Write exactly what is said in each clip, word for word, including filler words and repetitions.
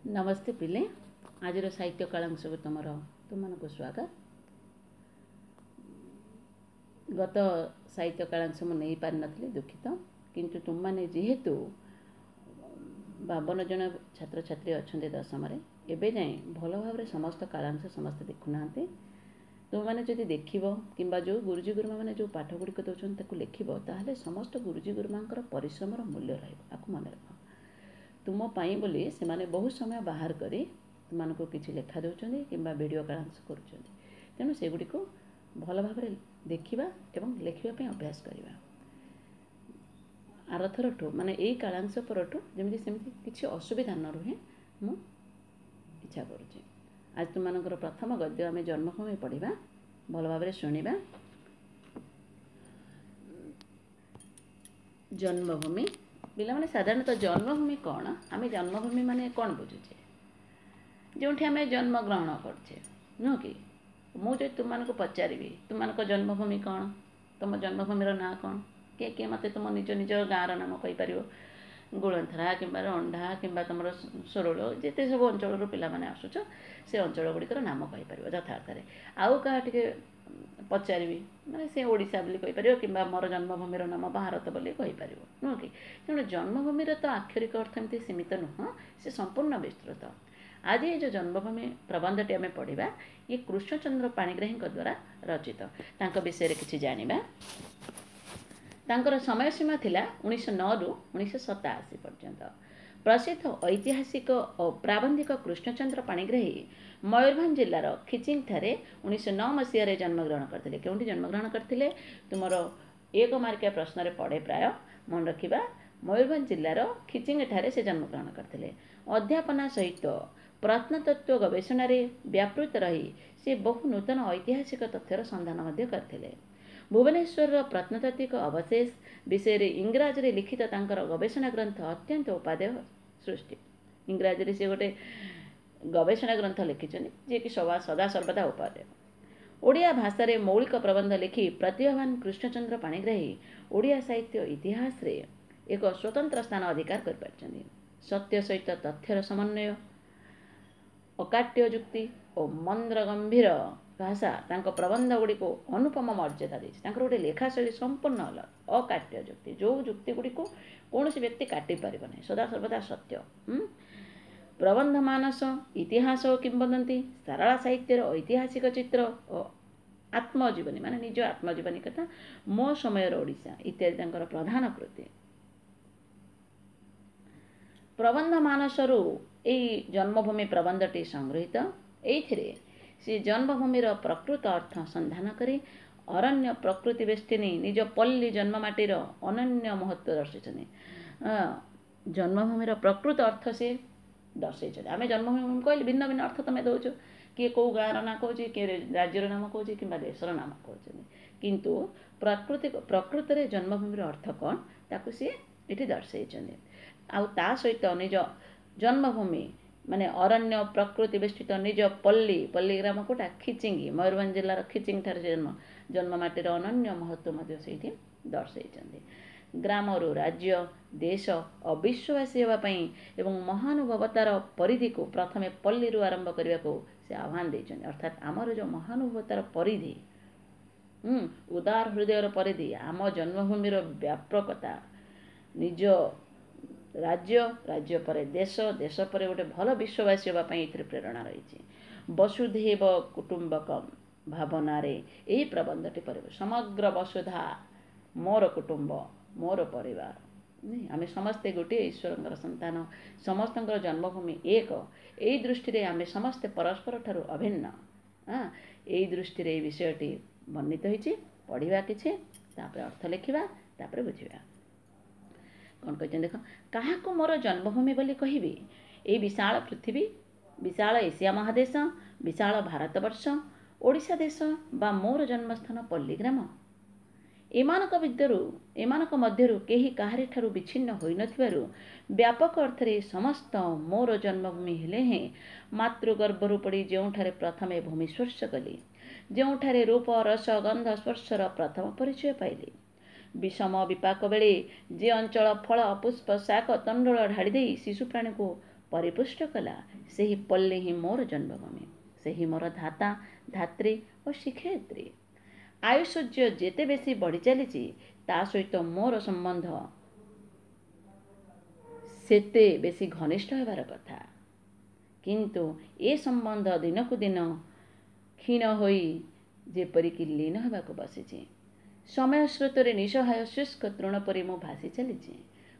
ନମସ୍ତେ ପିଲେ, ଆଜିର ସାହିତ୍ୟ କାଳାଂଶକୁ ତୁମର ତୁମମାନଙ୍କୁ ସ୍ୱାଗତ। ଗତ ସାହିତ୍ୟ କାଳାଂଶ ମୁଁ ନେଇପାରିନଥିଲି, ଦୁଃଖିତ। କିନ୍ତୁ ତୁମମାନେ ଯେହେତୁ ବାବନ ଜଣ ଛାତ୍ରଛାତ୍ରୀ ଅଛନ୍ତି ଦଶମରେ, ଏବେ ଯାଏଁ ଭଲ ଭାବରେ ସମସ୍ତ କାଳାଂଶ ସମସ୍ତେ ଦେଖୁନାହାନ୍ତି। ତୁମେମାନେ ଯଦି ଦେଖିବ କିମ୍ବା ଯେଉଁ ଗୁରୁଜୀ ଗୁରୁମାମାନେ ଯେଉଁ ପାଠ ଗୁଡ଼ିକ ଦେଉଛନ୍ତି ତାକୁ ଲେଖିବ, ତାହେଲେ ସମସ୍ତ ଗୁରୁଜୀ ଗୁରୁମାଙ୍କର ପରିଶ୍ରମର ମୂଲ୍ୟ ରହିବ। ଆକୁ ମନେ ରଖ। ତୁମ ପାଇଁ ବୋଲି ସେମାନେ ବହୁତ ସମୟ ବାହାର କରି ତୁମମାନଙ୍କୁ କିଛି ଲେଖା ଦେଉଛନ୍ତି କିମ୍ବା ଭିଡ଼ିଓ କାଳାଂଶ କରୁଛନ୍ତି। ତେଣୁ ସେଗୁଡ଼ିକୁ ଭଲ ଭାବରେ ଦେଖିବା ଏବଂ ଲେଖିବା ପାଇଁ ଅଭ୍ୟାସ କରିବା। ଆରଥରଠୁ ମାନେ ଏଇ କାଳାଂଶ ପରଠୁ ଯେମିତି ସେମିତି କିଛି ଅସୁବିଧା ନ ରୁହେ ମୁଁ ଇଚ୍ଛା କରୁଛି। ଆଜି ତୁମମାନଙ୍କର ପ୍ରଥମ ଗଦ୍ୟ ଆମେ ଜନ୍ମଭୂମି ପଢ଼ିବା, ଭଲ ଭାବରେ ଶୁଣିବା। ଜନ୍ମଭୂମି ପିଲାମାନେ, ସାଧାରଣତଃ ଜନ୍ମଭୂମି କ'ଣ? ଆମେ ଜନ୍ମଭୂମି ମାନେ କ'ଣ ବୁଝୁଛେ? ଯେଉଁଠି ଆମେ ଜନ୍ମଗ୍ରହଣ କରୁଛେ, ନୁହଁ କି? ମୁଁ ଯଦି ତୁମମାନଙ୍କୁ ପଚାରିବି ତୁମମାନଙ୍କ ଜନ୍ମଭୂମି କ'ଣ, ତୁମ ଜନ୍ମଭୂମିର ନାଁ କ'ଣ, କିଏ କିଏ ମୋତେ ତୁମ ନିଜ ନିଜ ଗାଁର ନାମ କହିପାରିବ? ଗୋଳନ୍ଥରା କିମ୍ବା ରଣ୍ଢା କିମ୍ବା ତୁମର ସରୋଳ, ଯେତେ ସବୁ ଅଞ୍ଚଳରୁ ପିଲାମାନେ ଆସୁଛ ସେ ଅଞ୍ଚଳ ଗୁଡ଼ିକର ନାମ କହିପାରିବ ଯଥାର୍ଥରେ। ଆଉ କାହା ଟିକେ ପଚାରିବି ମାନେ ସେ ଓଡ଼ିଶା ବୋଲି କହିପାରିବ କିମ୍ବା ମୋର ଜନ୍ମଭୂମିର ନାମ ଭାରତ ବୋଲି କହିପାରିବ, ନୁହଁ କି? ତେଣୁ ଜନ୍ମଭୂମିର ତ ଆକ୍ଷରିକ ଅର୍ଥ ଏମିତି ସୀମିତ ନୁହଁ, ସେ ସମ୍ପୂର୍ଣ୍ଣ ବିସ୍ତୃତ। ଆଜି ଏ ଯେଉଁ ଜନ୍ମଭୂମି ପ୍ରବନ୍ଧଟି ଆମେ ପଢ଼ିବା, ଇଏ କୃଷ୍ଣଚନ୍ଦ୍ର ପାଣିଗ୍ରାହୀଙ୍କ ଦ୍ୱାରା ରଚିତ। ତାଙ୍କ ବିଷୟରେ କିଛି ଜାଣିବା। ତାଙ୍କର ସମୟ ସୀମା ଥିଲା ଉଣେଇଶହ ନଅରୁ ଉଣେଇଶହ ସତାଅଶୀ ପର୍ଯ୍ୟନ୍ତ। ପ୍ରସିଦ୍ଧ ଐତିହାସିକ ଓ ପ୍ରାବନ୍ଧିକ କୃଷ୍ଣଚନ୍ଦ୍ର ପାଣିଗ୍ରାହୀ ମୟୂରଭଞ୍ଜ ଜିଲ୍ଲାର ଖିଚିଙ୍ଗଠାରେ ଉଣେଇଶହ ନଅ ମସିହାରେ ଜନ୍ମଗ୍ରହଣ କରିଥିଲେ। କେଉଁଠି ଜନ୍ମଗ୍ରହଣ କରିଥିଲେ? ତୁମର ଏକ ମାର୍କିଆ ପ୍ରଶ୍ନରେ ପଡ଼େ ପ୍ରାୟ, ମନେ ରଖିବା। ମୟୂରଭଞ୍ଜ ଜିଲ୍ଲାର ଖିଚିଙ୍ଗଠାରେ ସେ ଜନ୍ମଗ୍ରହଣ କରିଥିଲେ। ଅଧ୍ୟାପନା ସହିତ ପ୍ରତ୍ନତତ୍ତ୍ୱ ଗବେଷଣାରେ ବ୍ୟାପୃତ ରହି ସେ ବହୁ ନୂତନ ଐତିହାସିକ ତଥ୍ୟର ସନ୍ଧାନ ମଧ୍ୟ କରିଥିଲେ। ଭୁବନେଶ୍ୱରର ପ୍ରତ୍ନତାତ୍ତ୍ୱିକ ଅବଶେଷ ବିଷୟରେ ଇଂରାଜୀରେ ଲିଖିତ ତାଙ୍କର ଗବେଷଣା ଗ୍ରନ୍ଥ ଅତ୍ୟନ୍ତ ଉପାଦେୟ ସୃଷ୍ଟି। ଇଂରାଜୀରେ ସେ ଗୋଟେ ଗବେଷଣା ଗ୍ରନ୍ଥ ଲେଖିଛନ୍ତି ଯିଏକି ସଦା ସର୍ବଦା ଉପାଦେୟ। ଓଡ଼ିଆ ଭାଷାରେ ମୌଳିକ ପ୍ରବନ୍ଧ ଲେଖି ପ୍ରତିଭାବାନ କୃଷ୍ଣଚନ୍ଦ୍ର ପାଣିଗ୍ରାହୀ ଓଡ଼ିଆ ସାହିତ୍ୟ ଇତିହାସରେ ଏକ ସ୍ୱତନ୍ତ୍ର ସ୍ଥାନ ଅଧିକାର କରିପାରିଛନ୍ତି। ସତ୍ୟ ସହିତ ତଥ୍ୟର ସମନ୍ୱୟ, ଅକାଟ୍ୟ ଯୁକ୍ତି ଓ ମନ୍ଦ୍ର ଗମ୍ଭୀର ଭାଷା ତାଙ୍କ ପ୍ରବନ୍ଧ ଗୁଡ଼ିକୁ ଅନୁପମ ମର୍ଯ୍ୟାଦା ଦେଇଛି। ତାଙ୍କର ଗୋଟେ ଲେଖା ଶୈଳୀ ସମ୍ପୂର୍ଣ୍ଣ ଅଲଗା, ଅକାଟ୍ୟ ଯୁକ୍ତି, ଯେଉଁ ଯୁକ୍ତି ଗୁଡ଼ିକୁ କୌଣସି ବ୍ୟକ୍ତି କାଟି ପାରିବ ନାହିଁ, ସଦାସର୍ବଦା ସତ୍ୟ। ପ୍ରବନ୍ଧ ମାନସ, ଇତିହାସ ଓ କିମ୍ବଦନ୍ତୀ, ସାରଳା ସାହିତ୍ୟର ଐତିହାସିକ ଚିତ୍ର ଓ ଆତ୍ମଜୀବନୀ ମାନେ ନିଜ ଆତ୍ମଜୀବନୀ କଥା, ମୋ ସମୟର ଓଡ଼ିଶା ଇତ୍ୟାଦି ତାଙ୍କର ପ୍ରଧାନ କୃତି। ପ୍ରବନ୍ଧ ମାନସରୁ ଏଇ ଜନ୍ମଭୂମି ପ୍ରବନ୍ଧଟି ସଂଗୃହୀତ। ଏଇଥିରେ ସେ ଜନ୍ମଭୂମିର ପ୍ରକୃତ ଅର୍ଥ ସନ୍ଧାନ କରି ଅରଣ୍ୟ ପ୍ରକୃତି ବେଷ୍ଟିନୀ ନିଜ ପଲ୍ଲୀ ଜନ୍ମମାଟିର ଅନନ୍ୟ ମହତ୍ଵ ଦର୍ଶାଇଛନ୍ତି। ଜନ୍ମଭୂମିର ପ୍ରକୃତ ଅର୍ଥ ସେ ଦର୍ଶାଇଛନ୍ତି। ଆମେ ଜନ୍ମଭୂମି କହିଲେ ଭିନ୍ନ ଭିନ୍ନ ଅର୍ଥ ତୁମେ ଦେଉଛ, କିଏ କେଉଁ ଗାଁର ନାଁ କହୁଛି, କିଏ ରାଜ୍ୟର ନାମ କହୁଛି କିମ୍ବା ଦେଶର ନାମ କହୁଛନ୍ତି, କିନ୍ତୁ ପ୍ରାକୃତିକ ପ୍ରକୃତରେ ଜନ୍ମଭୂମିର ଅର୍ଥ କ'ଣ ତାକୁ ସିଏ ଏଠି ଦର୍ଶାଇଛନ୍ତି। ଆଉ ତା ସହିତ ନିଜ ଜନ୍ମଭୂମି ମାନେ ଅରଣ୍ୟ ପ୍ରକୃତି ବେଷ୍ଟିତ ନିଜ ପଲ୍ଲୀ, ପଲ୍ଲୀ ଗ୍ରାମ କୋଉଟା? ଖିଚିଙ୍ଗି, ମୟୂରଭଞ୍ଜ ଜିଲ୍ଲାର ଖିଚିଙ୍ଗ ଠାରେ ସେ ଜନ୍ମ, ଜନ୍ମ ମାଟିର ଅନନ୍ୟ ମହତ୍ଵ ମଧ୍ୟ ସେଇଠି ଦର୍ଶାଇଛନ୍ତି। ଗ୍ରାମରୁ ରାଜ୍ୟ, ଦେଶ ଓ ବିଶ୍ୱବାସୀ ହେବା ପାଇଁ ଏବଂ ମହାନୁଭବତାର ପରିଧିକୁ ପ୍ରଥମେ ପଲ୍ଲୀରୁ ଆରମ୍ଭ କରିବାକୁ ସେ ଆହ୍ୱାନ ଦେଇଛନ୍ତି। ଅର୍ଥାତ୍ ଆମର ଯେଉଁ ମହାନୁଭବତାର ପରିଧି, ଉଦାର ହୃଦୟର ପରିଧି, ଆମ ଜନ୍ମଭୂମିର ବ୍ୟାପକତା, ନିଜ ରାଜ୍ୟ, ରାଜ୍ୟ ପରେ ଦେଶ, ଦେଶ ପରେ ଗୋଟେ ଭଲ ବିଶ୍ୱବାସୀ ହେବା ପାଇଁ ଏଥିରେ ପ୍ରେରଣା ରହିଛି। ବସୁଧୈବ କୁଟୁମ୍ବକମ୍ ଭାବନାରେ ଏହି ପ୍ରବନ୍ଧଟି ପରିବ। ସମଗ୍ର ବସୁଧା ମୋର କୁଟୁମ୍ବ, ମୋର ପରିବାର, ଆମେ ସମସ୍ତେ ଗୋଟିଏ ଈଶ୍ୱରଙ୍କର ସନ୍ତାନ, ସମସ୍ତଙ୍କର ଜନ୍ମଭୂମି ଏକ। ଏଇ ଦୃଷ୍ଟିରେ ଆମେ ସମସ୍ତେ ପରସ୍ପର ଠାରୁ ଅଭିନ୍ନ। ଏଇ ଦୃଷ୍ଟିରେ ଏଇ ବିଷୟଟି ବର୍ଣ୍ଣିତ ହେଇଛି। ପଢ଼ିବା କିଛି, ତାପରେ ଅର୍ଥ ଲେଖିବା, ତାପରେ ବୁଝିବା। କ'ଣ କହିଛନ୍ତି ଦେଖ। କାହାକୁ ମୋର ଜନ୍ମଭୂମି ବୋଲି କହିବି? ଏଇ ବିଶାଳ ପୃଥିବୀ, ବିଶାଳ ଏସିଆ ମହାଦେଶ, ବିଶାଳ ଭାରତବର୍ଷ, ଓଡ଼ିଶା ଦେଶ ବା ମୋର ଜନ୍ମସ୍ଥାନ ପଲ୍ଲୀଗ୍ରାମ? ଏମାନଙ୍କ ଭିତରୁ ଏମାନଙ୍କ ମଧ୍ୟରୁ କେହି କାହାରିଠାରୁ ବିଚ୍ଛିନ୍ନ ହୋଇନଥିବାରୁ ବ୍ୟାପକ ଅର୍ଥରେ ସମସ୍ତ ମୋର ଜନ୍ମଭୂମି ହେଲେ ହେଁ ମାତୃଗର୍ଭରୁ ପଡ଼ି ଯେଉଁଠାରେ ପ୍ରଥମେ ଭୂମି ସ୍ପର୍ଶ କଲି, ଯେଉଁଠାରେ ରୂପ ରସ ଗନ୍ଧ ସ୍ପର୍ଶର ପ୍ରଥମ ପରିଚୟ ପାଇଲି, ବିଷମ ବିପାକ ବେଳେ ଯେ ଅଞ୍ଚଳ ଫଳ ପୁଷ୍ପ ଶାକ ତଣ୍ଡୁଳ ଢାଳି ଦେଇ ଶିଶୁ ପ୍ରାଣୀକୁ ପରିପୁଷ୍ଟ କଲା, ସେହି ପଲ୍ଲୀ ହିଁ ମୋର ଜନ୍ମଭୂମି, ସେହି ମୋର ଧାତା, ଧାତ୍ରୀ ଓ ଶିକ୍ଷୟିତ୍ରୀ। ଆୟୁଷର୍ଯ୍ୟ ଯେତେ ବେଶୀ ବଢ଼ି ଚାଲିଛି, ତା ସହିତ ମୋର ସମ୍ବନ୍ଧ ସେତେ ବେଶୀ ଘନିଷ୍ଠ ହେବାର କଥା। କିନ୍ତୁ ଏ ସମ୍ବନ୍ଧ ଦିନକୁ ଦିନ କ୍ଷୀଣ ହୋଇ ଯେପରିକି ଲୀନ ହେବାକୁ ବସିଛି। ସମୟ ସ୍ରୋତରେ ନିଃସହାୟ ଶୁଷ୍କ ତୃଣ ପରି ମୁଁ ଭାସି ଚାଲିଛି।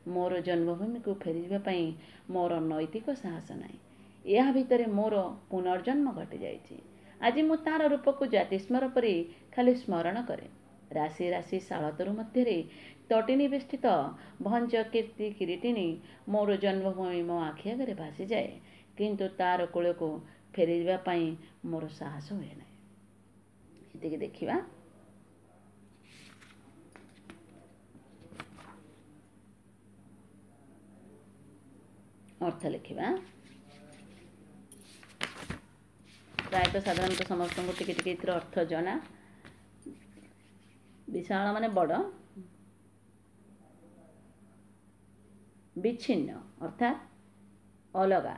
ମୋର ଜନ୍ମଭୂମିକୁ ଫେରିଯିବା ପାଇଁ ମୋର ନୈତିକ ସାହସ ନାହିଁ। ଏହା ଭିତରେ ମୋର ପୁନର୍ଜନ୍ମ ଘଟିଯାଇଛି। ଆଜି ମୁଁ ତାର ରୂପକୁ ଜାତିସ୍ମର ପରି ଖାଲି ସ୍ମରଣ କରେ। ରାଶି ରାଶି ଶାଳତରୁ ମଧ୍ୟରେ ତଟିନୀ ବେଷ୍ଟିତ ଭଞ୍ଜ କୀର୍ତ୍ତି କିରୀଟିନୀ ମୋର ଜନ୍ମଭୂମି ମୋ ଆଖି ଆଗରେ ଭାସିଯାଏ, କିନ୍ତୁ ତାର କୂଳକୁ ଫେରିଯିବା ପାଇଁ ମୋର ସାହସ ହୁଏ ନାହିଁ। ଏତିକି ଦେଖିବା। ଅର୍ଥ ଲେଖିବା। ପ୍ରାୟତଃ ସାଧାରଣତଃ ସମସ୍ତଙ୍କୁ ଟିକେ ଟିକେ ଏଥିର ଅର୍ଥ ଜଣା। ବିଶାଳ ମାନେ ବଡ଼, ବିଚ୍ଛିନ୍ନ ଅର୍ଥାତ୍ ଅଲଗା,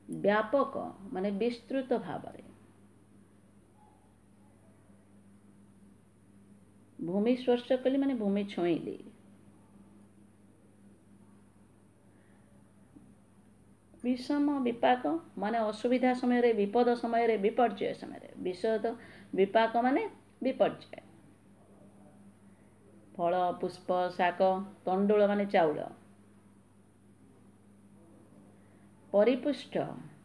ବ୍ୟାପକ ମାନେ ବିସ୍ତୃତ ଭାବରେ, ଭୂମି ସ୍ପର୍ଶ କଲି ମାନେ ଭୂମି ଛୁଇଁଲି, ବିଷମ ବିପାକ ମାନେ ଅସୁବିଧା ସମୟରେ, ବିପଦ ସମୟରେ, ବିପର୍ଯ୍ୟୟ ସମୟରେ, ବିଷଦ ବିପାକ ମାନେ ବିପର୍ଯ୍ୟୟ, ଫଳ ପୁଷ୍ପ ଶାକ, ତଣ୍ଡୁଳ ମାନେ ଚାଉଳ, ପରିପୁଷ୍ଟ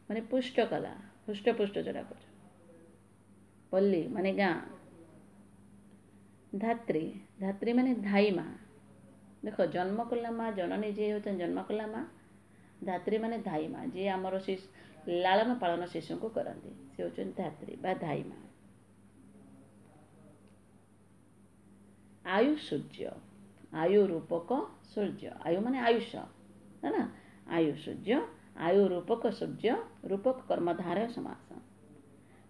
ମାନେ ପୁଷ୍ଟ କଲା, ହୃଷ୍ଟପୁଷ୍ଟ ଯୋଉଟା କହୁଛ, ପଲ୍ଲୀ ମାନେ ଗାଁ, ଧାତ୍ରୀ, ଧାତ୍ରୀ ମାନେ ଧାଇ ମା। ଦେଖ ଜନ୍ମ କଲା ମା, ଜନନୀ ଯିଏ ହେଉଛନ୍ତି ଜନ୍ମ କଲା ମା, ଧାତ୍ରୀ ମାନେ ଧାଇ ମା, ଯିଏ ଆମର ଲାଳନ ପାଳନ ଶିଶୁଙ୍କୁ କରନ୍ତି ସେ ହେଉଛନ୍ତି ଧାତ୍ରୀ ବା ଧାଇ ମା। ଆୟୁ ସୂର୍ଯ୍ୟ, ଆୟୁ ରୂପକ ସୂର୍ଯ୍ୟ, ଆୟୁ ମାନେ ଆୟୁଷ ହେଲା, ଆୟୁ ସୂର୍ଯ୍ୟ, ଆୟୁ ରୂପକ ସୂର୍ଯ୍ୟ, ରୂପକ କର୍ମଧାରୟ ସମାସ।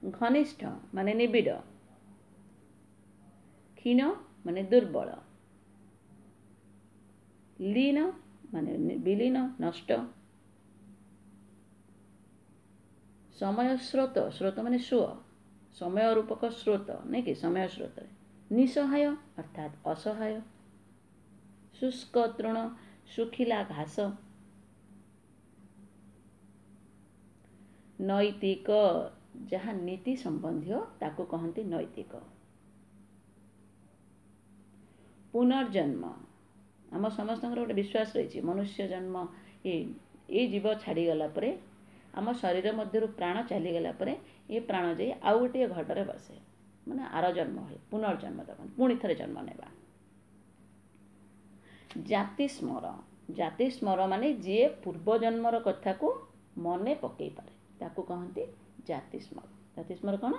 ଘନିଷ୍ଠ ମାନେ ନିବିଡ଼, କ୍ଷୀଣ ମାନେ ଦୁର୍ବଳ, ଲୀନ ମାନେ ବିଲୀନ ନଷ୍ଟ, ସମୟ ସ୍ରୋତ, ସ୍ରୋତ ମାନେ ସୁଅ, ସମୟ ରୂପକ ସ୍ରୋତ ନାଇଁ କି, ସମୟ ସ୍ରୋତରେ, ନିଃସହାୟ ଅର୍ଥାତ୍ ଅସହାୟ, ଶୁଷ୍କ ତୃଣ ଶୁଖିଲା ଘାସ, ନୈତିକ ଯାହା ନୀତି ସମ୍ବନ୍ଧୀୟ ତାକୁ କହନ୍ତି ନୈତିକ, ପୁନର୍ଜନ୍ମ ଆମ ସମସ୍ତଙ୍କର ଗୋଟେ ବିଶ୍ୱାସ ରହିଛି, ମନୁଷ୍ୟ ଜନ୍ମ ଏ ଏଇ ଜୀବ ଛାଡ଼ିଗଲା ପରେ, ଆମ ଶରୀର ମଧ୍ୟରୁ ପ୍ରାଣ ଚାଲିଗଲା ପରେ ଏ ପ୍ରାଣ ଯାଇ ଆଉ ଗୋଟିଏ ଘଟରେ ବସେ, ମାନେ ଆର ଜନ୍ମ ହୁଏ, ପୁନର୍ଜନ୍ମ ଦେବ, ପୁଣି ଥରେ ଜନ୍ମ ନେବା। ଜାତି ସ୍ମର, ଜାତି ସ୍ମର ମାନେ ଯିଏ ପୂର୍ବ ଜନ୍ମର କଥାକୁ ମନେ ପକେଇ ପାରେ ତାକୁ କହନ୍ତି ଜାତି ସ୍ମର। ଜାତି ସ୍ମର କ'ଣ?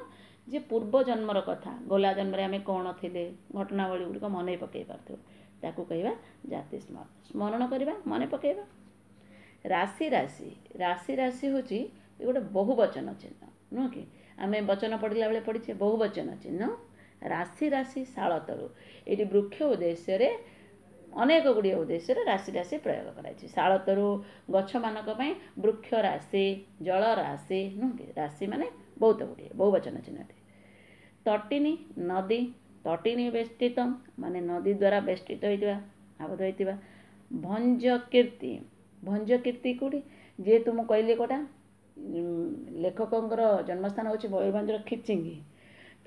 ଯିଏ ପୂର୍ବ ଜନ୍ମର କଥା, ଗଲା ଜନ୍ମରେ ଆମେ କ'ଣ ଥିଲେ, ଘଟଣାବଳୀ ଗୁଡ଼ିକ ମନେ ପକେଇ ପାରୁଥିବ, ତାକୁ କହିବା ଜାତି ସ୍ମର। ସ୍ମରଣ କରିବା, ମନେ ପକେଇବା। ରାଶି ରାଶି, ରାଶି ରାଶି ହେଉଛି ଗୋଟେ ବହୁବଚନ ଚିହ୍ନ ନୁହଁ କି? ଆମେ ବଚନ ପଢ଼ିଲା ବେଳେ ପଢ଼ିଛେ ବହୁବଚନ ଚିହ୍ନ। ରାଶି ରାଶି ଶାଳତରୁ, ଏଇଠି ବୃକ୍ଷ ଉଦ୍ଦେଶ୍ୟରେ ଅନେକ ଗୁଡ଼ିଏ ଉଦ୍ଦେଶ୍ୟରେ ରାଶି ରାଶି ପ୍ରୟୋଗ କରାଯାଇଛି। ଶାଳତରୁ ଗଛମାନଙ୍କ ପାଇଁ ବୃକ୍ଷ ରାଶି, ଜଳ ରାଶି ନୁହଁ କି? ରାଶି ମାନେ ବହୁତ ଗୁଡ଼ିଏ ବହୁବଚନ ଚିହ୍ନଟି। ତଟିନୀ ନଦୀ, ତଟିନୀ ବେଷ୍ଟିତ ମାନେ ନଦୀ ଦ୍ୱାରା ବେଷ୍ଟିତ ହୋଇଥିବା, ଆବଦ୍ଧ ହୋଇଥିବା। ଭଞ୍ଜ କୀର୍ତ୍ତି, ଭଞ୍ଜ କୀର୍ତ୍ତି କେଉଁଠି? ଯେହେତୁ ମୁଁ କହିଲି କେଉଁଟା ଲେଖକଙ୍କର ଜନ୍ମସ୍ଥାନ ହେଉଛି ମୟୂରଭଞ୍ଜର ଖିଚିଙ୍ଗି,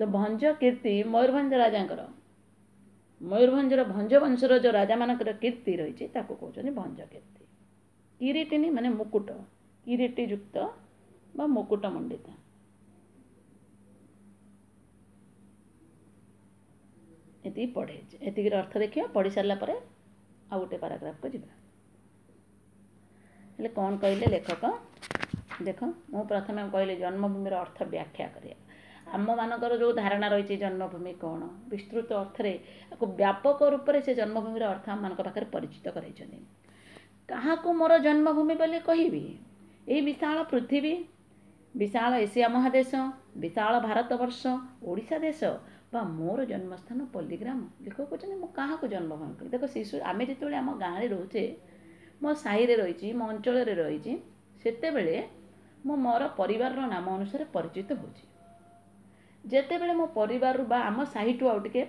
ତ ଭଞ୍ଜ କୀର୍ତ୍ତି ମୟୂରଭଞ୍ଜ ରାଜାଙ୍କର, ମୟୂରଭଞ୍ଜର ଭଞ୍ଜ ବଂଶର ଯେଉଁ ରାଜାମାନଙ୍କର କୀର୍ତ୍ତି ରହିଛି ତାକୁ କହୁଛନ୍ତି ଭଞ୍ଜ କୀର୍ତ୍ତି। କିରୀଟିନୀ ମାନେ ମୁକୁଟ, କିରୀଟି ଯୁକ୍ତ ବା ମୁକୁଟ ମଣ୍ଡିତ। ଏତିକି ପଢ଼େଇଛି, ଏତିକିର ଅର୍ଥ ଦେଖିବା। ପଢ଼ି ସାରିଲା ପରେ ଆଉ ଗୋଟେ ପାରାଗ୍ରାଫକୁ ଯିବା। ହେଲେ କ'ଣ କହିଲେ ଲେଖକ? ଦେଖ, ମୁଁ ପ୍ରଥମେ କହିଲି ଜନ୍ମଭୂମିର ଅର୍ଥ ବ୍ୟାଖ୍ୟା କରିବା। ଆମମାନଙ୍କର ଯେଉଁ ଧାରଣା ରହିଛି ଜନ୍ମଭୂମି କ'ଣ, ବିସ୍ତୃତ ଅର୍ଥରେ ଆକୁ ବ୍ୟାପକ ରୂପରେ ସେ ଜନ୍ମଭୂମିର ଅର୍ଥ ଆମମାନଙ୍କ ପାଖରେ ପରିଚିତ କରାଇଛନ୍ତି। କାହାକୁ ମୋର ଜନ୍ମଭୂମି ବୋଲି କହିବି? ଏଇ ବିଶାଳ ପୃଥିବୀ, ବିଶାଳ ଏସିଆ ମହାଦେଶ, ବିଶାଳ ଭାରତବର୍ଷ, ଓଡ଼ିଶା ଦେଶ ବା ମୋର ଜନ୍ମସ୍ଥାନ ପଲ୍ଲୀଗ୍ରାମ। ଲେଖକ କହୁଛନ୍ତି ମୁଁ କାହାକୁ ଜନ୍ମଭୂମି କହିବି? ଦେଖ ଶିଶୁ, ଆମେ ଯେତେବେଳେ ଆମ ଗାଁରେ ରହୁଛେ, ମୋ ସାହିରେ ରହିଛି, ମୋ ଅଞ୍ଚଳରେ ରହିଛି, ସେତେବେଳେ ମୁଁ ମୋର ପରିବାରର ନାମ ଅନୁସାରେ ପରିଚିତ ହେଉଛି। ଯେତେବେଳେ ମୋ ପରିବାରରୁ ବା ଆମ ସାହିଠୁ ଆଉ ଟିକେ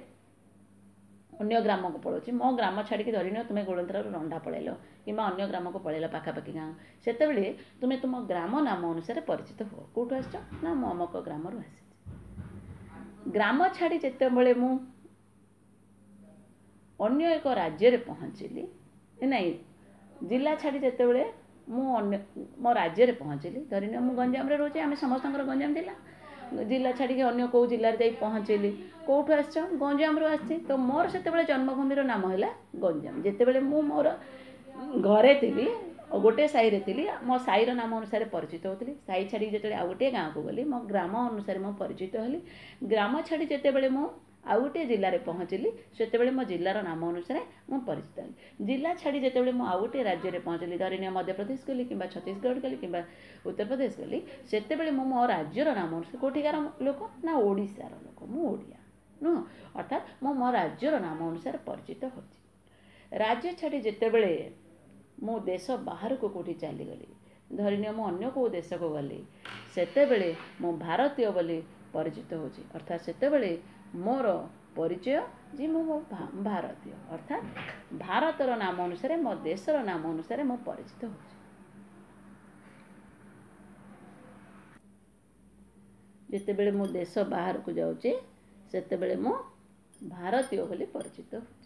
ଅନ୍ୟ ଗ୍ରାମକୁ ପଳାଉଛି, ମୋ ଗ୍ରାମ ଛାଡ଼ିକି ଧରିନିଅ ତୁମେ ଗୋଳନ୍ଥରାରୁ ରଣ୍ଢା ପଳେଇଲ କିମ୍ବା ଅନ୍ୟ ଗ୍ରାମକୁ ପଳେଇଲ ପାଖାପାଖି ଗାଁ, ସେତେବେଳେ ତୁମେ ତୁମ ଗ୍ରାମ ନାମ ଅନୁସାରେ ପରିଚିତ ହୁଅ। କେଉଁଠୁ ଆସିଛ? ନା ମୁଁ ଅମକ ଗ୍ରାମରୁ ଆସିଛି। ଗ୍ରାମ ଛାଡ଼ି ଯେତେବେଳେ ମୁଁ ଅନ୍ୟ ଏକ ରାଜ୍ୟରେ ପହଞ୍ଚିଲି, ନାଇଁ ଜିଲ୍ଲା ଛାଡ଼ି ଯେତେବେଳେ ମୁଁ ଅନ୍ୟ ମୋ ରାଜ୍ୟରେ ପହଞ୍ଚିଲି, ଧରିନିଅ ମୁଁ ଗଞ୍ଜାମରେ ରହୁଛି, ଆମେ ସମସ୍ତଙ୍କର ଗଞ୍ଜାମ ଜିଲ୍ଲା, ଜିଲ୍ଲା ଛାଡ଼ିକି ଅନ୍ୟ କେଉଁ ଜିଲ୍ଲାରେ ଯାଇ ପହଞ୍ଚିଲି, କେଉଁଠୁ ଆସିଛ? ଗଞ୍ଜାମରୁ ଆସିଛି। ତ ମୋର ସେତେବେଳେ ଜନ୍ମଭୂମିର ନାମ ହେଲା ଗଞ୍ଜାମ। ଯେତେବେଳେ ମୁଁ ମୋର ଘରେ ଥିଲି, ଗୋଟେ ସାହିରେ ଥିଲି, ମୋ ସାହିର ନାମ ଅନୁସାରେ ପରିଚିତ ହେଉଥିଲି। ସାହି ଛାଡ଼ିକି ଯେତେବେଳେ ଆଉ ଗୋଟିଏ ଗାଁକୁ ଗଲି, ମୋ ଗ୍ରାମ ଅନୁସାରେ ମୁଁ ପରିଚିତ ହେଲି। ଗ୍ରାମ ଛାଡ଼ି ଯେତେବେଳେ ମୁଁ ଆଉ ଗୋଟିଏ ଜିଲ୍ଲାରେ ପହଞ୍ଚିଲି, ସେତେବେଳେ ମୋ ଜିଲ୍ଲାର ନାମ ଅନୁସାରେ ମୁଁ ପରିଚିତ ହେଲି। ଜିଲ୍ଲା ଛାଡ଼ି ଯେତେବେଳେ ମୁଁ ଆଉ ଗୋଟିଏ ରାଜ୍ୟରେ ପହଞ୍ଚିଲି, ଧରିନିଅ ମଧ୍ୟପ୍ରଦେଶ ଗଲି କିମ୍ବା ଛତିଶଗଡ଼ ଗଲି କିମ୍ବା ଉତ୍ତରପ୍ରଦେଶ ଗଲି, ସେତେବେଳେ ମୁଁ ମୋ ରାଜ୍ୟର ନାମ ଅନୁସାରେ, କେଉଁଠିକାର ଲୋକ? ନା ଓଡ଼ିଶାର ଲୋକ, ମୁଁ ଓଡ଼ିଆ ନୁହଁ, ଅର୍ଥାତ୍ ମୁଁ ମୋ ରାଜ୍ୟର ନାମ ଅନୁସାରେ ପରିଚିତ ହେଉଛି। ରାଜ୍ୟ ଛାଡ଼ି ଯେତେବେଳେ ମୁଁ ଦେଶ ବାହାରକୁ କେଉଁଠି ଚାଲିଗଲି, ଧରିନିଅ ମୁଁ ଅନ୍ୟ କେଉଁ ଦେଶକୁ ଗଲି, ସେତେବେଳେ ମୁଁ ଭାରତୀୟ ବୋଲି ପରିଚିତ ହେଉଛି। ଅର୍ଥାତ୍ ସେତେବେଳେ ମୋର ପରିଚୟ ଯେ ମୁଁ ମୋ ଭାରତୀୟ, ଅର୍ଥାତ୍ ଭାରତର ନାମ ଅନୁସାରେ, ମୋ ଦେଶର ନାମ ଅନୁସାରେ ମୁଁ ପରିଚିତ ହେଉଛି। ଯେତେବେଳେ ମୁଁ ଦେଶ ବାହାରକୁ ଯାଉଛି, ସେତେବେଳେ ମୁଁ ଭାରତୀୟ ବୋଲି ପରିଚିତ ହେଉଛି।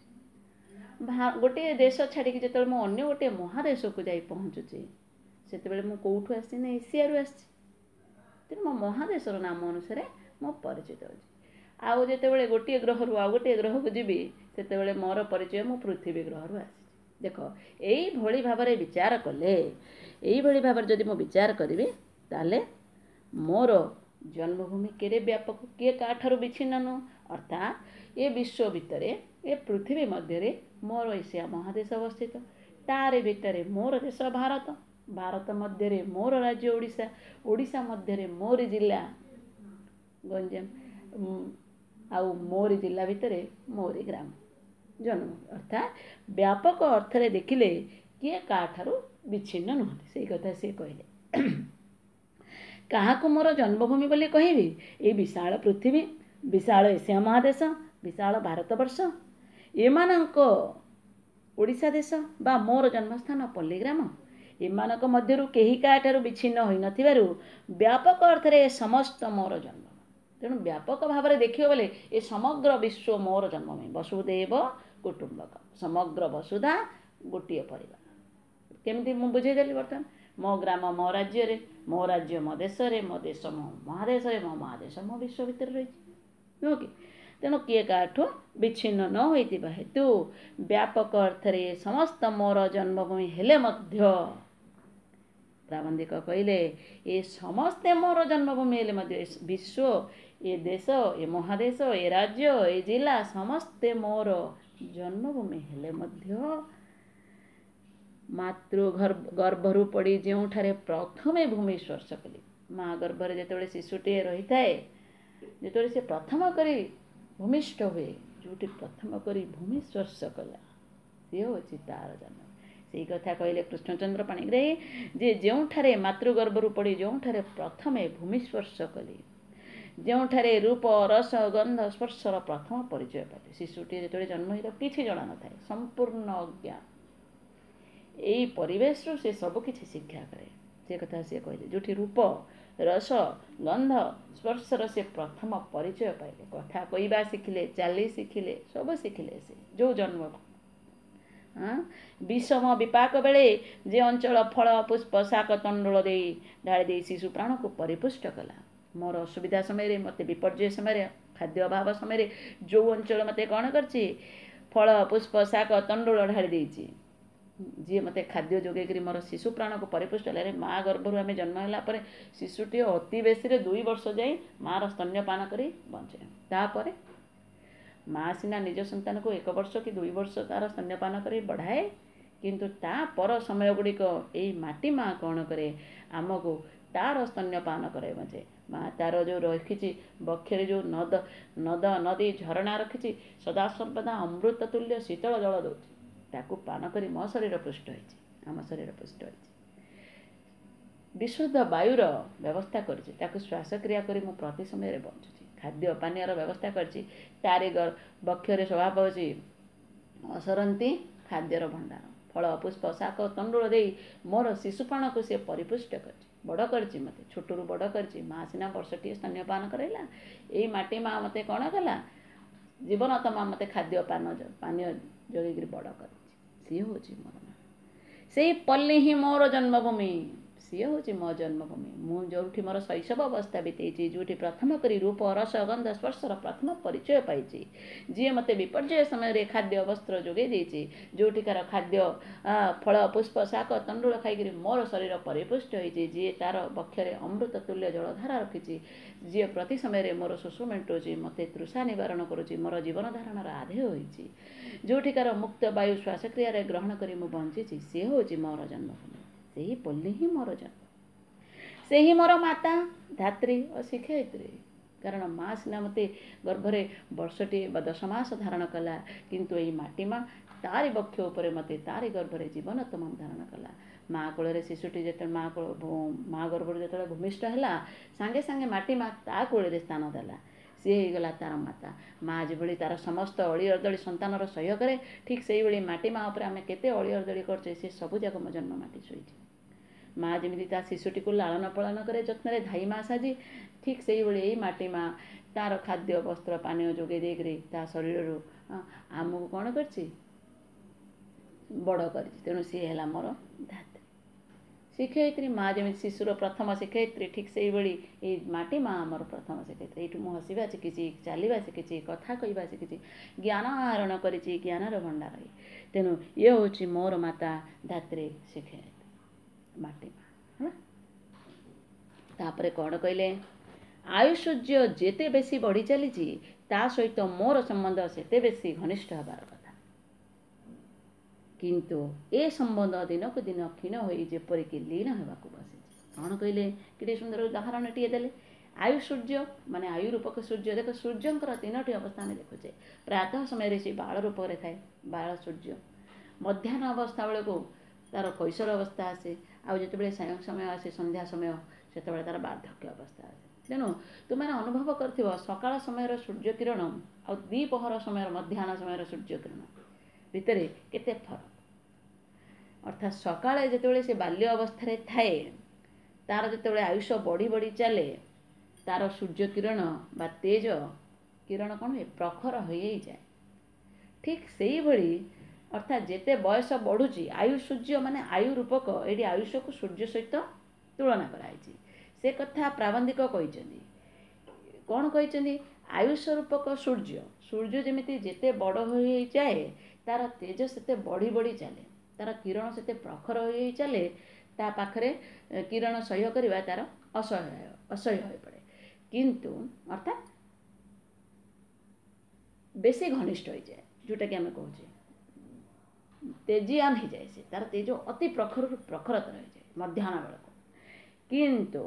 ଗୋଟିଏ ଦେଶ ଛାଡ଼ିକି ଯେତେବେଳେ ମୁଁ ଅନ୍ୟ ଗୋଟିଏ ମହାଦେଶକୁ ଯାଇ ପହଞ୍ଚୁଛି, ସେତେବେଳେ ମୁଁ କେଉଁଠୁ ଆସିଛି? ନା ଏସିଆରୁ ଆସିଛି। ତେଣୁ ମୋ ମହାଦେଶର ନାମ ଅନୁସାରେ ମୁଁ ପରିଚିତ ହେଉଛି। ଆଉ ଯେତେବେଳେ ଗୋଟିଏ ଗ୍ରହରୁ ଆଉ ଗୋଟିଏ ଗ୍ରହକୁ ଯିବି, ସେତେବେଳେ ମୋର ପରିଚୟ ମୁଁ ପୃଥିବୀ ଗ୍ରହରୁ ଆସିଛି। ଦେଖ, ଏଇଭଳି ଭାବରେ ବିଚାର କଲେ, ଏଇଭଳି ଭାବରେ ଯଦି ମୁଁ ବିଚାର କରିବି, ତାହେଲେ ମୋର ଜନ୍ମଭୂମି କେଡ଼େ ବ୍ୟାପକ, କିଏ କାହାଠାରୁ ବିଚ୍ଛିନ୍ନ ନୁହଁ। ଅର୍ଥାତ୍ ଏ ବିଶ୍ୱ ଭିତରେ, ଏ ପୃଥିବୀ ମଧ୍ୟରେ ମୋର ଏସିଆ ମହାଦେଶ ଅବସ୍ଥିତ, ତାରି ଭିତରେ ମୋର ଦେଶ ଭାରତ, ଭାରତ ମଧ୍ୟରେ ମୋର ରାଜ୍ୟ ଓଡ଼ିଶା, ଓଡ଼ିଶା ମଧ୍ୟରେ ମୋରି ଜିଲ୍ଲା ଗଞ୍ଜାମ, ଆଉ ମୋରି ଜିଲ୍ଲା ଭିତରେ ମୋରି ଗ୍ରାମ ଜନ୍ମଭୂମି। ଅର୍ଥାତ୍ ବ୍ୟାପକ ଅର୍ଥରେ ଦେଖିଲେ କିଏ କାହାଠାରୁ ବିଚ୍ଛିନ୍ନ ନୁହନ୍ତି, ସେଇ କଥା ସିଏ କହିଲେ। କାହାକୁ ମୋର ଜନ୍ମଭୂମି ବୋଲି କହିବି? ଏଇ ବିଶାଳ ପୃଥିବୀ, ବିଶାଳ ଏସିଆ ମହାଦେଶ, ବିଶାଳ ଭାରତବର୍ଷ, ଏମାନଙ୍କ ଓଡ଼ିଶା ଦେଶ ବା ମୋର ଜନ୍ମସ୍ଥାନ ପଲ୍ଲୀଗ୍ରାମ, ଏମାନଙ୍କ ମଧ୍ୟରୁ କେହି କାହାଠାରୁ ବିଚ୍ଛିନ୍ନ ହୋଇନଥିବାରୁ ବ୍ୟାପକ ଅର୍ଥରେ ଏ ସମସ୍ତ ମୋର ଜନ୍ମ। ତେଣୁ ବ୍ୟାପକ ଭାବରେ ଦେଖିବ ବୋଲେ ଏ ସମଗ୍ର ବିଶ୍ୱ ମୋର ଜନ୍ମଭୂମି। ବସୁଦେବ କୁଟୁମ୍ବକ, ସମଗ୍ର ବସୁଧା ଗୋଟିଏ ପରିବାର। କେମିତି ମୁଁ ବୁଝେଇଦେଲି ବର୍ତ୍ତମାନ? ମୋ ଗ୍ରାମ ମୋ ରାଜ୍ୟରେ, ମୋ ରାଜ୍ୟ ମୋ ଦେଶରେ, ମୋ ଦେଶ ମୋ ମହାଦେଶରେ, ମୋ ମହାଦେଶ ମୋ ବିଶ୍ୱ ଭିତରେ ରହିଛି, ନୁହଁ କି? ତେଣୁ କିଏ କାହାଠୁ ବିଚ୍ଛିନ୍ନ ନ ହୋଇଥିବା ହେତୁ ବ୍ୟାପକ ଅର୍ଥରେ ସମସ୍ତ ମୋର ଜନ୍ମଭୂମି ହେଲେ ମଧ୍ୟ, ପ୍ରାବନ୍ଧିକ କହିଲେ, ଏ ସମସ୍ତେ ମୋର ଜନ୍ମଭୂମି ହେଲେ ମଧ୍ୟ, ଏ ବିଶ୍ୱ, ଏ ଦେଶ, ଏ ମହାଦେଶ, ଏ ରାଜ୍ୟ, ଏ ଜିଲ୍ଲା ସମସ୍ତେ ମୋର ଜନ୍ମଭୂମି ହେଲେ ମଧ୍ୟ, ମାତୃ ଗର୍ଭରୁ ପଡ଼ି ଯେଉଁଠାରେ ପ୍ରଥମେ ଭୂମି ସ୍ପର୍ଶ କଲି, ମା ଗର୍ଭରେ ଯେତେବେଳେ ଶିଶୁଟିଏ ରହିଥାଏ, ଯେତେବେଳେ ସେ ପ୍ରଥମ କରି ଭୂମିଷ୍ଠ ହୁଏ, ଯେଉଁଠି ପ୍ରଥମ କରି ଭୂମି ସ୍ପର୍ଶ କଲା, ସିଏ ହେଉଛି ତାର ଜନ୍ମ। ସେଇ କଥା କହିଲେ କୃଷ୍ଣଚନ୍ଦ୍ର ପାଣିଗ୍ରାହୀ ଯେ ଯେଉଁଠାରେ ମାତୃଗର୍ଭରୁ ପଡ଼ି ଯେଉଁଠାରେ ପ୍ରଥମେ ଭୂମି ସ୍ପର୍ଶ କଲି, ଯେଉଁଠାରେ ରୂପ ରସ ଗନ୍ଧ ସ୍ପର୍ଶର ପ୍ରଥମ ପରିଚୟ ପାଇଲେ। ଶିଶୁଟିଏ ଯେତେବେଳେ ଜନ୍ମ ହେଇଥାଏ କିଛି ଜଣା ନଥାଏ, ସମ୍ପୂର୍ଣ୍ଣ ଅଜ୍ଞାନ। ଏଇ ପରିବେଶରୁ ସେ ସବୁ କିଛି ଶିକ୍ଷା କରେ। ସେ କଥା ସିଏ କହିଲେ, ଯେଉଁଠି ରୂପ ରସ ଗନ୍ଧ ସ୍ପର୍ଶର ସେ ପ୍ରଥମ ପରିଚୟ ପାଇଲେ, କଥା କହିବା ଶିଖିଲେ, ଚାଲି ଶିଖିଲେ, ସବୁ ଶିଖିଲେ ସେ ଯେଉଁ ଜନ୍ମ। ବିଷମ ବିପାକ ବେଳେ ଯେ ଅଞ୍ଚଳ ଫଳ ପୁଷ୍ପ ଶାକ ତଣ୍ଡୁଳ ଦେଇ ଢାଳି ଦେଇ ଶିଶୁ ପ୍ରାଣକୁ ପରିପୁଷ୍ଟ କଲା। ମୋର ଅସୁବିଧା ସମୟରେ, ମୋତେ ବିପର୍ଯ୍ୟୟ ସମୟରେ, ଖାଦ୍ୟ ଅଭାବ ସମୟରେ ଯେଉଁ ଅଞ୍ଚଳ ମୋତେ କ'ଣ କରିଛି, ଫଳ ପୁଷ୍ପ ଶାକ ତଣ୍ଡୁଳ ଢାଳି ଦେଇଛି, ଯିଏ ମୋତେ ଖାଦ୍ୟ ଯୋଗେଇକରି ମୋର ଶିଶୁ ପ୍ରାଣକୁ ପରିପୁଷ୍ଟ ହେଲା। ମା ଗର୍ଭରୁ ଆମେ ଜନ୍ମ ହେଲା ପରେ ଶିଶୁଟିଏ ଅତି ବେଶୀରେ ଦୁଇ ବର୍ଷ ଯାଇ ମାଆର ସ୍ତନ୍ୟପାନ କରି ବଞ୍ଚେ। ତାପରେ ମା ସିନା ନିଜ ସନ୍ତାନକୁ ଏକ ବର୍ଷ କି ଦୁଇ ବର୍ଷ ତାର ସ୍ତନ୍ୟପାନ କରି ବଢ଼ାଏ, କିନ୍ତୁ ତା ପର ସମୟ ଗୁଡ଼ିକ ଏଇ ମାଟି ମା କ'ଣ କରେ, ଆମକୁ ତାର ସ୍ତନ୍ୟପାନ କରାଇ ବଞ୍ଚେ। ମା ତାର ଯେଉଁ ରଖିଛି ବକ୍ଷରେ ଯେଉଁ ନଦ ନଦ ନଦୀ ଝରଣା ରଖିଛି, ସଦାସର୍ବଦା ଅମୃତ ତୁଲ୍ୟ ଶୀତଳ ଜଳ ଦେଉଛି, ତାକୁ ପାନ କରି ମୋ ଶରୀର ପୃଷ୍ଟ ହେଇଛି। ଆମ ଶରୀର ପୁଷ୍ଟ ହୋଇଛି। ବିଶୁଦ୍ଧ ବାୟୁର ବ୍ୟବସ୍ଥା କରିଛି, ତାକୁ ଶ୍ୱାସକ୍ରିୟା କରି ମୁଁ ପ୍ରତି ସମୟରେ ବଞ୍ଚୁଛି। ଖାଦ୍ୟ ପାନୀୟର ବ୍ୟବସ୍ଥା କରିଛି, ତାରି ବକ୍ଷରେ ଶୋଭା ପାଉଛି ଅସରନ୍ତି ଖାଦ୍ୟର ଭଣ୍ଡାର। ଫଳ ପୁଷ୍ପ ଶାକ ତଣ୍ଡୁଳ ଦେଇ ମୋର ଶିଶୁପଣକୁ ସେ ପରିପୁଷ୍ଟ କରିଛି, ବଡ଼ କରିଛି ମୋତେ, ଛୋଟରୁ ବଡ଼ କରିଛି। ମା ସିନା ବର୍ଷଟିଏ ସ୍ତନ୍ୟପାନ କରାଇଲା, ଏଇ ମାଟି ମା ମୋତେ କ'ଣ କଲା, ଜୀବନ ତମା ମୋତେ ଖାଦ୍ୟ ପାନ ପାନୀୟ ଯୋଗେଇକିରି ବଡ଼ କରିଛି। ସିଏ ହେଉଛି ମୋର ମା, ସେଇ ପଲ୍ଲୀ ହିଁ ମୋର ଜନ୍ମଭୂମି, ସିଏ ହେଉଛି ମୋ ଜନ୍ମଭୂମି। ମୁଁ ଯେଉଁଠି ମୋର ଶୈଶବ ଅବସ୍ଥା ବିତେଇଛି, ଯେଉଁଠି ପ୍ରଥମ କରି ରୂପ ରସ ଗନ୍ଧ ସ୍ପର୍ଶର ପ୍ରଥମ ପରିଚୟ ପାଇଛି, ଯିଏ ମୋତେ ବିପର୍ଯ୍ୟୟ ସମୟରେ ଖାଦ୍ୟ ବସ୍ତ୍ର ଯୋଗାଇ ଦେଇଛି, ଯେଉଁଠିକାର ଖାଦ୍ୟ ଫଳ ପୁଷ୍ପ ଶାକ ତଣ୍ଡୁଳ ଖାଇକରି ମୋର ଶରୀର ପରିପୁଷ୍ଟ ହୋଇଛି, ଯିଏ ତା'ର ବକ୍ଷରେ ଅମୃତ ତୁଲ୍ୟ ଜଳଧାରା ରଖିଛି, ଯିଏ ପ୍ରତି ସମୟରେ ମୋର ଶୋଷ ମେଣ୍ଟାଉଛି, ମୋତେ ତୃଷା ନିବାରଣ କରୁଛି, ମୋର ଜୀବନ ଧାରଣର ଆଧେୟ ହୋଇଛି, ଯେଉଁଠିକାର ମୁକ୍ତ ବାୟୁ ଶ୍ୱାସକ୍ରିୟାରେ ଗ୍ରହଣ କରି ମୁଁ ବଞ୍ଚିଛି, ସିଏ ହେଉଛି ମୋର ଜନ୍ମଭୂମି। ସେହି ପଲ୍ଲୀ ହିଁ ମୋର ଜନ୍ମ, ସେହି ମୋର ମାତା, ଧାତ୍ରୀ ଓ ଶିକ୍ଷୟିତ୍ରୀ। କାରଣ ମା ସିନା ମୋତେ ଗର୍ଭରେ ବର୍ଷଟିଏ ବା ଦଶ ମାସ ଧାରଣ କଲା, କିନ୍ତୁ ଏଇ ମାଟି ମା ତାରି ବକ୍ଷ ଉପରେ ମୋତେ ତାରି ଗର୍ଭରେ ଜୀବନ ତମାମ ଧାରଣ କଲା। ମା କୋଳରେ ଶିଶୁଟି ଯେତେବେଳେ ମା କୋଳ ମା ଗର୍ଭରୁ ଯେତେବେଳେ ଭୂମିଷ୍ଠ ହେଲା, ସାଙ୍ଗେ ସାଙ୍ଗେ ମାଟି ମା ତା କୋଳରେ ସ୍ଥାନ ଦେଲା। ସିଏ ହେଇଗଲା ତାର ମାତା। ମା ଯେଭଳି ତାର ସମସ୍ତ ଅଳି ଅର୍ଦଳି ସନ୍ତାନର ସହ୍ୟ କରେ, ଠିକ୍ ସେଇଭଳି ମାଟି ମା ଉପରେ ଆମେ କେତେ ଅଳି ଅର୍ଦଳି କରୁଛେ, ସେ ସବୁ ଯାକ ମୋ ଜନ୍ମ ମାଟି ଶୋଇଛି। ମା ଯେମିତି ତା ଶିଶୁଟିକୁ ଲାଳନ ପାଳନ କରେ ଯତ୍ନରେ ଧାଇ ମା ସାଜି, ଠିକ୍ ସେଇଭଳି ଏଇ ମାଟି ମା ତାର ଖାଦ୍ୟ ବସ୍ତ୍ର ପାନୀୟ ଯୋଗାଇ ଦେଇକରି ତା ଶରୀରରୁ ଆମକୁ କ'ଣ କରିଛି, ବଡ଼ କରିଛି। ତେଣୁ ସିଏ ହେଲା ମୋର ଧାତ୍ରୀ ଶିକ୍ଷୟିତ୍ରୀ। ମା ଯେମିତି ଶିଶୁର ପ୍ରଥମ ଶିକ୍ଷୟିତ୍ରୀ, ଠିକ୍ ସେଇଭଳି ଏଇ ମାଟି ମା ଆମର ପ୍ରଥମ ଶିକ୍ଷୟିତ୍ରୀ। ଏଇଠୁ ମୁଁ ହସିବା ଶିଖିଛି, ଚାଲିବା ଶିଖିଛି, କଥା କହିବା ଶିଖିଛି, ଜ୍ଞାନ ଆହରଣ କରିଛି, ଜ୍ଞାନର ଭଣ୍ଡାର। ତେଣୁ ଇଏ ହେଉଛି ମୋର ମାତା ଧାତ୍ରୀ ଶିକ୍ଷୟିତ୍ରୀ ମାଟି ମା। ହେଲା, ତାପରେ କ'ଣ କହିଲେ, ଆୟୁଷର୍ଯ୍ୟ ଯେତେ ବେଶୀ ବଢ଼ି ଚାଲିଛି ତା ସହିତ ମୋର ସମ୍ବନ୍ଧ ସେତେ ବେଶୀ ଘନିଷ୍ଠ ହେବାର କଥା, କିନ୍ତୁ ଏ ସମ୍ବନ୍ଧ ଦିନକୁ ଦିନ କ୍ଷୀଣ ହୋଇ ଯେପରିକି ଲୀନ ହେବାକୁ ବସିଛି। କ'ଣ କହିଲେ, କେତେ ସୁନ୍ଦର ଉଦାହରଣଟିଏ ଦେଲେ। ଆୟୁ ସୂର୍ଯ୍ୟ ମାନେ ଆୟୁ ରୂପକ ସୂର୍ଯ୍ୟ। ଦେଖ, ସୂର୍ଯ୍ୟଙ୍କର ତିନୋଟି ଅବସ୍ଥା ଆମେ ଦେଖୁଛେ। ପ୍ରାତଃ ସମୟରେ ସେ ବାଳ ରୂପରେ ଥାଏ, ବାଳ ସୂର୍ଯ୍ୟ। ମଧ୍ୟାହ୍ନ ଅବସ୍ଥା ବେଳକୁ ତାର କୈଶୋର ଅବସ୍ଥା ଆସେ, ଆଉ ଯେତେବେଳେ ସାୟଂ ସମୟ ଆସେ, ସନ୍ଧ୍ୟା ସମୟ, ସେତେବେଳେ ତାର ବାର୍ଦ୍ଧକ୍ୟ ଅବସ୍ଥା ଆସେ। ତେଣୁ ତୁମେ ଅନୁଭବ କରିଥିବ ସକାଳ ସମୟର ସୂର୍ଯ୍ୟ କିରଣ ଆଉ ଦ୍ୱିପହର ସମୟର ମଧ୍ୟାହ୍ନ ସମୟର ସୂର୍ଯ୍ୟ କିରଣ ଭିତରେ କେତେ ଫରକ। ଅର୍ଥାତ୍ ସକାଳେ ଯେତେବେଳେ ସେ ବାଲ୍ୟ ଅବସ୍ଥାରେ ଥାଏ, ତାର ଯେତେବେଳେ ଆୟୁଷ ବଢ଼ି ବଢ଼ି ଚାଲେ, ତାର ସୂର୍ଯ୍ୟ କିରଣ ବା ତେଜ କିରଣ କ'ଣ ହୁଏ, ପ୍ରଖର ହୋଇଯାଏ। ଠିକ୍ ସେଇଭଳି ଅର୍ଥାତ୍ ଯେତେ ବୟସ ବଢ଼ୁଛି, ଆୟୁ ସୂର୍ଯ୍ୟ ମାନେ ଆୟୁ ରୂପକ, ଏଇଠି ଆୟୁଷକୁ ସୂର୍ଯ୍ୟ ସହିତ ତୁଳନା କରାହେଇଛି। ସେ କଥା ପ୍ରାବନ୍ଧିକ କହିଛନ୍ତି। କ'ଣ କହିଛନ୍ତି, ଆୟୁଷ ରୂପକ ସୂର୍ଯ୍ୟ, ସୂର୍ଯ୍ୟ ଯେମିତି ଯେତେ ବଡ଼ ହୋଇଯାଏ ତାର ତେଜ ସେତେ ବଢ଼ି ବଢ଼ି ଚାଲେ, ତାର କିରଣ ସେତେ ପ୍ରଖର ହୋଇ ଚାଲେ, ତା ପାଖରେ କିରଣ ସହ୍ୟ କରିବା ତାର ଅସହ୍ୟ ଅସହ୍ୟ ହୋଇପଡ଼େ। କିନ୍ତୁ ଅର୍ଥାତ୍ ବେଶୀ ଘନିଷ୍ଠ ହୋଇଯାଏ, ଯେଉଁଟାକି ଆମେ କହୁଛେ ତେଜିଆନ ହେଇଯାଏ, ସେ ତାର ତେଜ ଅତି ପ୍ରଖରରୁ ପ୍ରଖରତର ହେଇଯାଏ ମଧ୍ୟାହ୍ନ ବେଳକୁ। କିନ୍ତୁ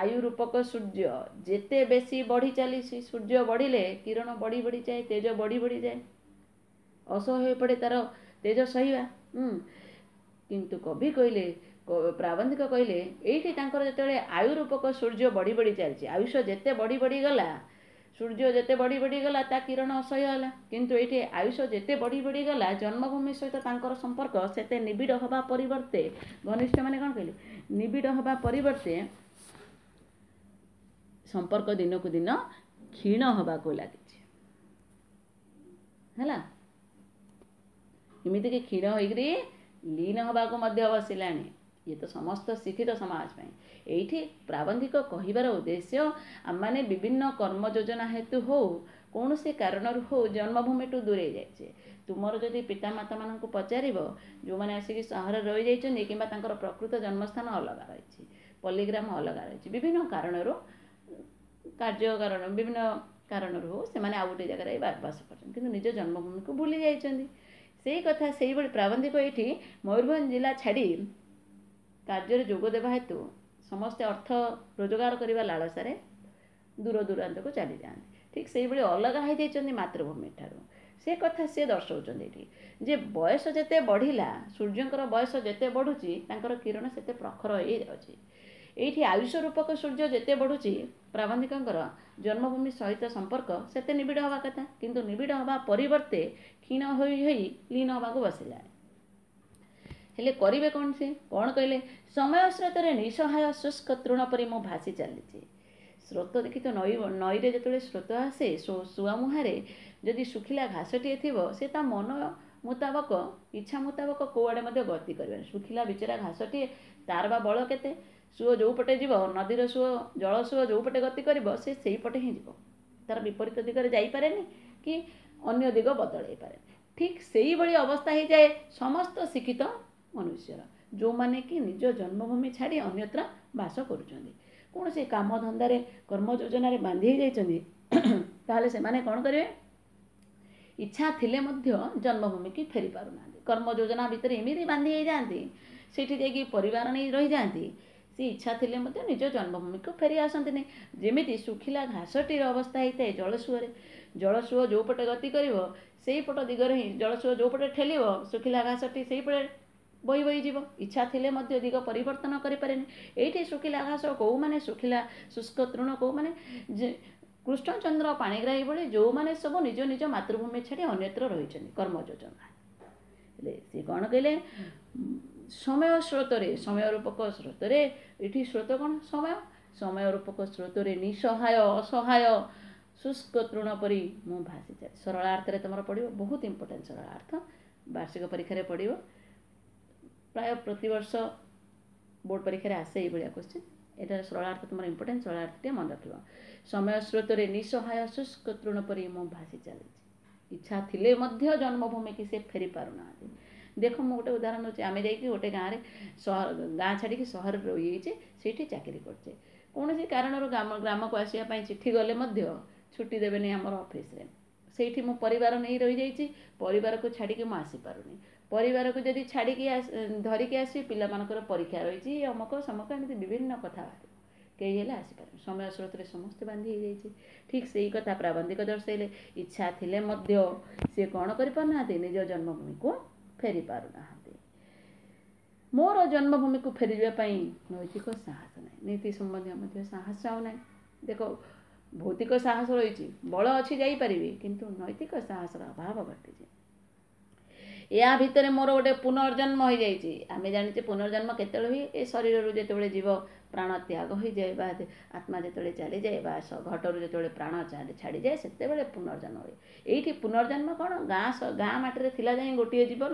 ଆୟୁ ରୂପକ ସୂର୍ଯ୍ୟ ଯେତେ ବେଶୀ ବଢ଼ି ଚାଲିଛି, ସୂର୍ଯ୍ୟ ବଢ଼ିଲେ କିରଣ ବଢ଼ି ବଢ଼ିଯାଏ, ତେଜ ବଢ଼ି ବଢ଼ିଯାଏ, ଅସହ୍ୟ ହୋଇପଡ଼େ ତାର ତେଜ ସହିବା। କିନ୍ତୁ କବି କହିଲେ, ପ୍ରାବନ୍ଧିକ କହିଲେ, ଏଇଠି ତାଙ୍କର ଯେତେବେଳେ ଆୟୁ ରୂପକ ସୂର୍ଯ୍ୟ ବଢ଼ି ବଢ଼ି ଚାଲିଛି, ଆୟୁଷ ଯେତେ ବଢ଼ି ବଢ଼ିଗଲା, ସୂର୍ଯ୍ୟ ଯେତେ ବଢ଼ି ବଢ଼ିଗଲା ତା କିରଣ ଅସହ୍ୟ ହେଲା। କିନ୍ତୁ ଏଇଠି ଆୟୁଷ ଯେତେ ବଢ଼ି ବଢ଼ିଗଲା, ଜନ୍ମଭୂମି ସହିତ ତାଙ୍କର ସମ୍ପର୍କ ସେତେ ନିବିଡ଼ ହେବା ପରିବର୍ତ୍ତେ, ଘନିଷ୍ଠ ମାନେ କ'ଣ କହିଲେ, ନିବିଡ଼ ହେବା ପରିବର୍ତ୍ତେ ସମ୍ପର୍କ ଦିନକୁ ଦିନ କ୍ଷୀଣ ହେବାକୁ ଲାଗିଛି। ହେଲା, ଏମିତିକି କ୍ଷୀଣ ହୋଇକରି ଲୀନ ହେବାକୁ ମଧ୍ୟ ବସିଲାଣି। ଇଏ ତ ସମସ୍ତ ଶିକ୍ଷିତ ସମାଜ ପାଇଁ। ଏଇଠି ପ୍ରାବନ୍ଧିକ କହିବାର ଉଦ୍ଦେଶ୍ୟ, ଆମମାନେ ବିଭିନ୍ନ କର୍ମ ଯୋଜନା ହେତୁ ହଉ, କୌଣସି କାରଣରୁ ହଉ, ଜନ୍ମଭୂମିଠୁ ଦୂରେଇ ଯାଇଛେ। ତୁମର ଯଦି ପିତାମାତାମାନଙ୍କୁ ପଚାରିବ, ଯେଉଁମାନେ ଆସିକି ସହରରେ ରହିଯାଇଛନ୍ତି କିମ୍ବା ତାଙ୍କର ପ୍ରକୃତ ଜନ୍ମସ୍ଥାନ ଅଲଗା ରହିଛି, ପଲ୍ଲୀଗ୍ରାମ ଅଲଗା ରହିଛି, ବିଭିନ୍ନ କାରଣରୁ, କାର୍ଯ୍ୟ କାରଣ, ବିଭିନ୍ନ କାରଣରୁ ହଉ, ସେମାନେ ଆଉ ଗୋଟେ ଜାଗାରେ ବାସ କରୁଛନ୍ତି, କିନ୍ତୁ ନିଜ ଜନ୍ମଭୂମିକୁ ଭୁଲି ଯାଇଛନ୍ତି। ସେଇ କଥା ସେଇଭଳି ପ୍ରାବନ୍ଧିକ ଏଇଠି ମୟୂରଭଞ୍ଜ ଜିଲ୍ଲା ଛାଡ଼ି କାର୍ଯ୍ୟରେ ଯୋଗ ଦେବା ହେତୁ ସମସ୍ତେ ଅର୍ଥ ରୋଜଗାର କରିବା ଲାଳସାରେ ଦୂର ଦୂରାନ୍ତକୁ ଚାଲିଯାଆନ୍ତି। ଠିକ୍ ସେଇଭଳି ଅଲଗା ହେଇଯାଇଛନ୍ତି ମାତୃଭୂମି ଠାରୁ। ସେ କଥା ସିଏ ଦର୍ଶାଉଛନ୍ତି ଏଠି ଯେ ବୟସ ଯେତେ ବଢ଼ିଲା, ସୂର୍ଯ୍ୟଙ୍କର ବୟସ ଯେତେ ବଢ଼ୁଛି ତାଙ୍କର କିରଣ ସେତେ ପ୍ରଖର ହେଇଯାଉଛି। ଏଇଠି ଆୟୁଷ ରୂପକ ସୂର୍ଯ୍ୟ ଯେତେ ବଢ଼ୁଛି ପ୍ରାବନ୍ଧିକଙ୍କର ଜନ୍ମଭୂମି ସହିତ ସମ୍ପର୍କ ସେତେ ନିବିଡ଼ ହେବା କଥା, କିନ୍ତୁ ନିବିଡ଼ ହେବା ପରିବର୍ତ୍ତେ କ୍ଷୀଣ ହୋଇ ହୋଇ ଲୀନ ହେବାକୁ ବସିଲାଣି। ହେଲେ କରିବେ କ'ଣ ସେ? କ'ଣ କହିଲେ? ସମୟ ସ୍ରୋତରେ ନିଃସହାୟ ଶୁଷ୍କ ତୃଣ ପରି ମୁଁ ଭାସି ଚାଲିଛି। ସ୍ରୋତ ଦେଖି ତ ନଈ, ନଈରେ ଯେତେବେଳେ ସ୍ରୋତ ଆସେ ସୁଆ ମୁହାଁରେ ଯଦି ଶୁଖିଲା ଘାସଟିଏ ଥିବ ସେ ତା ମନ ମୁତାବକ ଇଚ୍ଛା ମୁତାବକ କେଉଁଆଡ଼େ ମଧ୍ୟ ଗତି କରିବନି। ଶୁଖିଲା ବିଚରା ଘାସଟିଏ ତାର ବା ବଳ କେତେ? ସୁଅ ଯେଉଁ ପଟେ ଯିବ, ନଦୀର ସୁଅ ଜଳ ସୁଅ ଯେଉଁ ପଟେ ଗତି କରିବ ସେ ସେଇପଟେ ହିଁ ଯିବ, ତାର ବିପରୀତ ଦିଗରେ ଯାଇପାରେନି କି ଅନ୍ୟ ଦିଗ ବଦଳାଇ ପାରେନି। ଠିକ୍ ସେଇଭଳି ଅବସ୍ଥା ହେଇଯାଏ ସମସ୍ତ ଶିକ୍ଷିତ ମନୁଷ୍ୟର, ଯେଉଁମାନେ କି ନିଜ ଜନ୍ମଭୂମି ଛାଡ଼ି ଅନ୍ୟତ୍ର ବାସ କରୁଛନ୍ତି, କୌଣସି କାମ ଧନ୍ଦାରେ କର୍ମ ଯୋଜନାରେ ବାନ୍ଧି ହେଇଯାଇଛନ୍ତି। ତାହେଲେ ସେମାନେ କ'ଣ କରିବେ? ଇଚ୍ଛା ଥିଲେ ମଧ୍ୟ ଜନ୍ମଭୂମିକି ଫେରି ପାରୁନାହାନ୍ତି। କର୍ମ ଯୋଜନା ଭିତରେ ଏମିତି ବାନ୍ଧି ହେଇଯାଆନ୍ତି, ସେଇଠି ଯାଇକି ପରିବାର ନେଇ ରହିଯାଆନ୍ତି, ସେ ଇଚ୍ଛା ଥିଲେ ମଧ୍ୟ ନିଜ ଜନ୍ମଭୂମିକୁ ଫେରି ଆସନ୍ତିନି। ଯେମିତି ଶୁଖିଲା ଘାସଟିର ଅବସ୍ଥା ହେଇଥାଏ ଜଳସୁଅରେ, ଜଳସୁଅ ଯେଉଁ ପଟେ ଗତି କରିବ ସେଇପଟ ଦିଗରେ ହିଁ ଜଳସୁଅ ଯେଉଁ ପଟେ ଠେଲିବ ଶୁଖିଲା ଘାସଟି ସେଇପଟେ ବହି ବହି ଯିବ, ଇଚ୍ଛା ଥିଲେ ମଧ୍ୟ ଦିଗ ପରିବର୍ତ୍ତନ କରିପାରେନି। ଏଇଠି ଶୁଖିଲା ଘାସ କେଉଁମାନେ, ଶୁଖିଲା ଶୁଷ୍କ ତୃଣ କେଉଁମାନେ? ଯେ କୃଷ୍ଣଚନ୍ଦ୍ର ପାଣିଗ୍ରାହୀ ଭଳି ଯେଉଁମାନେ ସବୁ ନିଜ ନିଜ ମାତୃଭୂମି ଛାଡ଼ି ଅନ୍ୟତ୍ର ରହିଛନ୍ତି କର୍ମ ଯୋଜନା। ହେଲେ ସିଏ କ'ଣ କହିଲେ? ସମୟ ସ୍ରୋତରେ, ସମୟ ରୂପକ ସ୍ରୋତରେ, ଏଠି ସ୍ରୋତ କ'ଣ? ସମୟ, ସମୟ ରୂପକ ସ୍ରୋତରେ ନିଃସହାୟ ଅସହାୟ ଶୁଷ୍କ ତୃଣ ପରି ମୁଁ ଭାସି ଚାଲି। ସରଳାର୍ଥରେ ତୁମର ପଡ଼ିବ, ବହୁତ ଇମ୍ପୋର୍ଟାଣ୍ଟ ସରଳାର୍ଥ, ବାର୍ଷିକ ପରୀକ୍ଷାରେ ପଡ଼ିବ, ପ୍ରାୟ ପ୍ରତିବର୍ଷ ବୋର୍ଡ଼ ପରୀକ୍ଷାରେ ଆସେ ଏଇଭଳିଆ କୋଶ୍ଚିନ୍। ଏଇଟା ସରଳାର୍ଥ ତୁମର ଇମ୍ପୋର୍ଟାଣ୍ଟ, ସରଳାର୍ଥ ଟିକେ ମନେ ରଖିବ। ସମୟ ସ୍ରୋତରେ ନିଃସହାୟ ଶୁଷ୍କ ତୃଣ ପରି ମୁଁ ଭାସି ଚାଲିଛି, ଇଚ୍ଛା ଥିଲେ ମଧ୍ୟ ଜନ୍ମଭୂମିକି ସେ ଫେରି ପାରୁନାହାନ୍ତି। ଦେଖ ମୁଁ ଗୋଟେ ଉଦାହରଣ ଦେଉଛି, ଆମେ ଯାଇକି ଗୋଟେ ଗାଁରେ ସହର, ଗାଁ ଛାଡ଼ିକି ସହରରେ ରହିଯାଇଛେ, ସେଇଠି ଚାକିରି କରୁଛେ, କୌଣସି କାରଣରୁ ଗ୍ରାମ ଗ୍ରାମକୁ ଆସିବା ପାଇଁ ଚିଠି ଗଲେ ମଧ୍ୟ ଛୁଟି ଦେବେନି ଆମର ଅଫିସରେ। ସେଇଠି ମୁଁ ପରିବାର ନେଇ ରହିଯାଇଛି, ପରିବାରକୁ ଛାଡ଼ିକି ମୁଁ ଆସିପାରୁନି। ପରିବାରକୁ ଯଦି ଛାଡ଼ିକି ଧରିକି ଆସିବି ପିଲାମାନଙ୍କର ପରୀକ୍ଷା ରହିଛି, ଅମକ ସମକ ଏମିତି ବିଭିନ୍ନ କଥା ବାହାରିବ, କେହି ହେଲେ ଆସିପାରିବେନି। ସମୟ ସ୍ରୋତରେ ସମସ୍ତେ ବାନ୍ଧି ହେଇଯାଇଛି। ଠିକ୍ ସେଇ କଥା ପ୍ରାବନ୍ଧିକ ଦର୍ଶାଇଲେ, ଇଚ୍ଛା ଥିଲେ ମଧ୍ୟ ସିଏ କ'ଣ କରିପାରୁନାହାନ୍ତି? ନିଜ ଜନ୍ମଭୂମିକୁ ଫେରି ପାରୁନାହାନ୍ତି। ମୋର ଜନ୍ମଭୂମିକୁ ଫେରିଯିବା ପାଇଁ ନୈତିକ ସାହସ ନାହିଁ, ନୀତି ସମ୍ବନ୍ଧୀୟ ମଧ୍ୟ ସାହସ ଆଉ ନାହିଁ। ଦେଖ ଭୌତିକ ସାହସ ରହିଛି, ବଳ ଅଛି ଯାଇପାରିବି, କିନ୍ତୁ ନୈତିକ ସାହସର ଅଭାବ ଘଟିଛି। ୟା ଭିତରେ ମୋର ଗୋଟେ ପୁନର୍ଜନ୍ମ ହୋଇଯାଇଛି। ଆମେ ଜାଣିଛେ ପୁନର୍ଜନ୍ମ କେତେବେଳେ ହୁଏ? ଏ ଶରୀରରୁ ଯେତେବେଳେ ଜୀବ ପ୍ରାଣ ତ୍ୟାଗ ହୋଇଯାଏ ବା ଆତ୍ମା ଯେତେବେଳେ ଚାଲିଯାଏ ବା ଘଟରୁ ଯେତେବେଳେ ପ୍ରାଣ ଛାଡ଼ିଯାଏ ସେତେବେଳେ ପୁନର୍ଜନ୍ମ ହୁଏ। ଏଇଠି ପୁନର୍ଜନ୍ମ କ'ଣ? ଗାଁ ଗାଁ ମାଟିରେ ଥିଲା ଯାଇ ଗୋଟିଏ ଜୀବନ,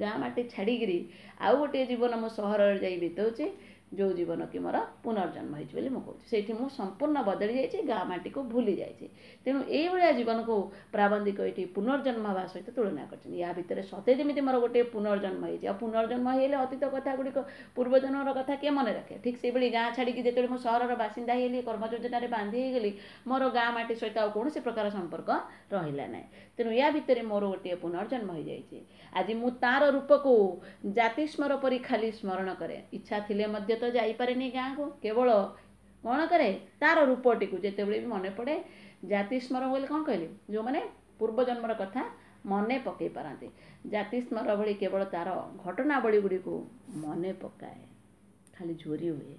ଗାଁ ମାଟି ଛାଡ଼ିକିରି ଆଉ ଗୋଟିଏ ଜୀବନ ମୁଁ ସହରରେ ଯାଇ ବିତାଉଛି, ଯେଉଁ ଜୀବନ କି ମୋର ପୁନର୍ଜନ୍ମ ହେଇଛି ବୋଲି ମୁଁ କହୁଛି। ସେଇଠି ମୁଁ ସମ୍ପୂର୍ଣ୍ଣ ବଦଳି ଯାଇଛି, ଗାଁ ମାଟିକୁ ଭୁଲି ଯାଇଛି। ତେଣୁ ଏଇଭଳିଆ ଜୀବନକୁ ପ୍ରାବନ୍ଧିକ ଏଇଠି ପୁନର୍ଜନ୍ମ ହେବା ସହିତ ତୁଳନା କରିଛନ୍ତି। ୟା ଭିତରେ ସତେ ଯେମିତି ମୋର ଗୋଟିଏ ପୁନର୍ଜନ୍ମ ହେଇଛି। ଆଉ ପୁନର୍ଜନ୍ମ ହେଇଗଲେ ଅତୀତ କଥା ଗୁଡ଼ିକ, ପୂର୍ବଜନ୍ମର କଥା କିଏ ମନେ ରଖେ? ଠିକ୍ ସେଇଭଳି ଗାଁ ଛାଡ଼ିକି ଯେତେବେଳେ ମୁଁ ସହରର ବାସିନ୍ଦା ହେଇଗଲି, କର୍ମ ଯୋଜନାରେ ବାନ୍ଧି ହେଇଗଲି, ମୋର ଗାଁ ମାଟି ସହିତ ଆଉ କୌଣସି ପ୍ରକାର ସମ୍ପର୍କ ରହିଲା ନାହିଁ। ତେଣୁ ୟା ଭିତରେ ମୋର ଗୋଟିଏ ପୁନର୍ଜନ୍ମ ହେଇଯାଇଛି। ଆଜି ମୁଁ ତାର ରୂପକୁ ଜାତିସ୍ମର ପରି ଖାଲି ସ୍ମରଣ କରେ। ଇଚ୍ଛା ଥିଲେ ମଧ୍ୟ ତ ଯାଇପାରେନି ଗାଁକୁ, କେବଳ କ'ଣ କରେ? ତାର ରୂପଟିକୁ ଯେତେବେଳେ ବି ମନେ ପଡ଼େ। ଜାତିସ୍ମର ବୋଲି କ'ଣ କହିଲି? ଯେଉଁମାନେ ପୂର୍ବଜନ୍ମର କଥା ମନେ ପକାଇ ପାରନ୍ତି। ଜାତିସ୍ମର ଭଳି କେବଳ ତାର ଘଟଣାବଳୀ ଗୁଡ଼ିକୁ ମନେ ପକାଏ, ଖାଲି ଝୁରି ହୁଏ।